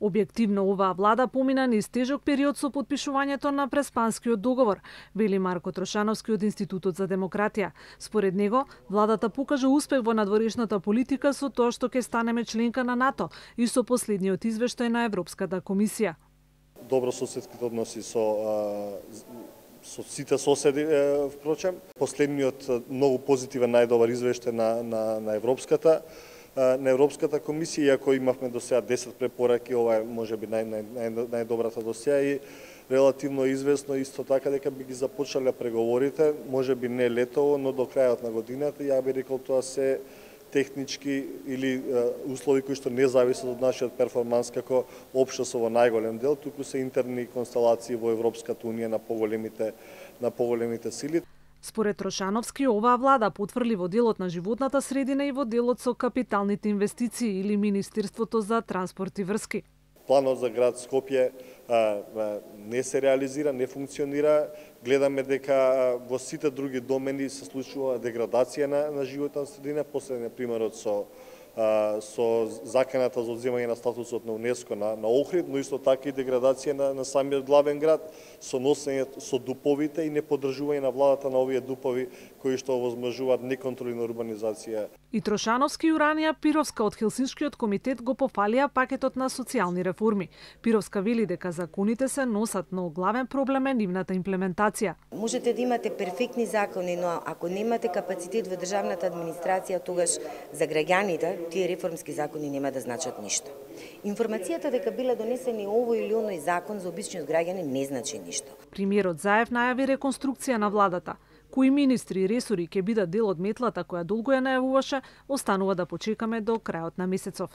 Објективно, оваа влада помина низ тежок период со потпишувањето на Преспанскиот договор, вели Марко Трошановски од Институтот за демократија. Според него, владата покажа успех во надворешната политика со тоа што ќе станеме членка на НАТО и со последниот извештај на Европската комисија. Добрососедските односи со сите соседи, впрочем. Последниот многу позитивен најдобар извештај на Европската комисија, иако имавме до сега 10 препораки, ова е можеби најдобрата до сега и релативно известно исто така дека би ги започнале преговорите, можеби не летово, но до крајот на годината. Ја би рекол тоа се технички или услови кои што не зависат од нашиот перформанс како општество во најголем дел, туку се интерни констелации во Европската унија на поголемите сили. Според Трошановски, оваа влада потврли во делот на животната средина и во делот со капиталните инвестиции или Министерството за транспорт и врски. Планот за град Скопје не се реализира, не функционира. Гледаме дека во сите други домени се случува деградација на животна средина. Последниот примерот со заканата за одземање на статусот на УНЕСКО на Охрид, но исто така и деградација на самиот главен град, со носење со дуповите и неподржување на владата на овие дупови кои што овозможуваат неконтролирана урбанизација. И Трошановски и Уранија Пировска од Хелсиншкиот комитет го пофалија пакетот на социјални реформи. Пировска вели дека законите се носат, но главен проблем е нивната имплементација. Можете да имате перфектни закони, но ако немате капацитет во државната администрација, тогаш за граѓаните тие реформски закони нема да значат ништо. Информацијата дека биле донесени овој или оној закон за обичниот граѓанин не значи ништо. Премиерот Заев најави реконструкција на владата. Кои министри и ресори ќе бидат дел од метлата која долго ја најавуваше, останува да почекаме до крајот на месецов.